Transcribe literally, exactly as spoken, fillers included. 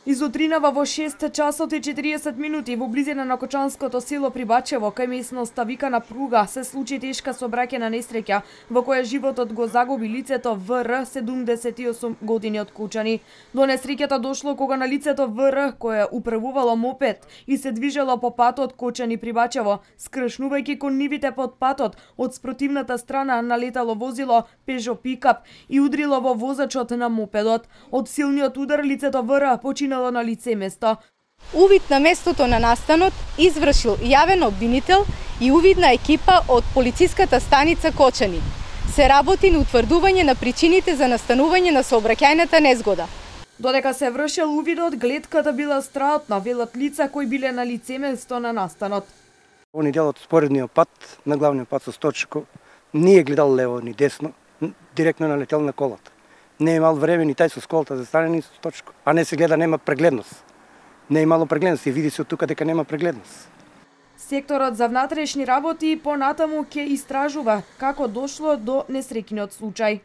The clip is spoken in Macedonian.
Изутринава во шест часот и четириесет минути во близина на Кочанското село Прибачево, кај местноста Викана Пруга, се случи тешка сообраќајна несреќа во која животот го загуби лицето В Р, седумдесет и осум години од Кучани. До несреќата дошло кога на лицето В Р, кое управувало мопед и се движело по патот Кочани Прибачево, скршнувајќи кон нивите под патот, од спротивната страна налетало возило Пежо пикап и удрило во возачот на мопедот. Од силниот удар лицето В Р почина на лице место. Увид на местото на настанот извршил јавен обвинител и увидна екипа од полициската станица Кочани. Се работи на утврдување на причините за настанување на сообраќајната незгода. Додека се вршел увидот, гледката била страотна, велат лица кои биле на лице место на настанот. Они делот споредниот пат, на главниот пат со Сточко, не е гледал лево ни десно, директно налетел на колата. Не е имал време ни тај со сколата за стане ни со Точко. А не се гледа, нема прегледност. Не е имало прегледност и види се од тука дека нема прегледност. Секторот за внатрешни работи понатаму ќе истражува како дошло до несреќниот случај.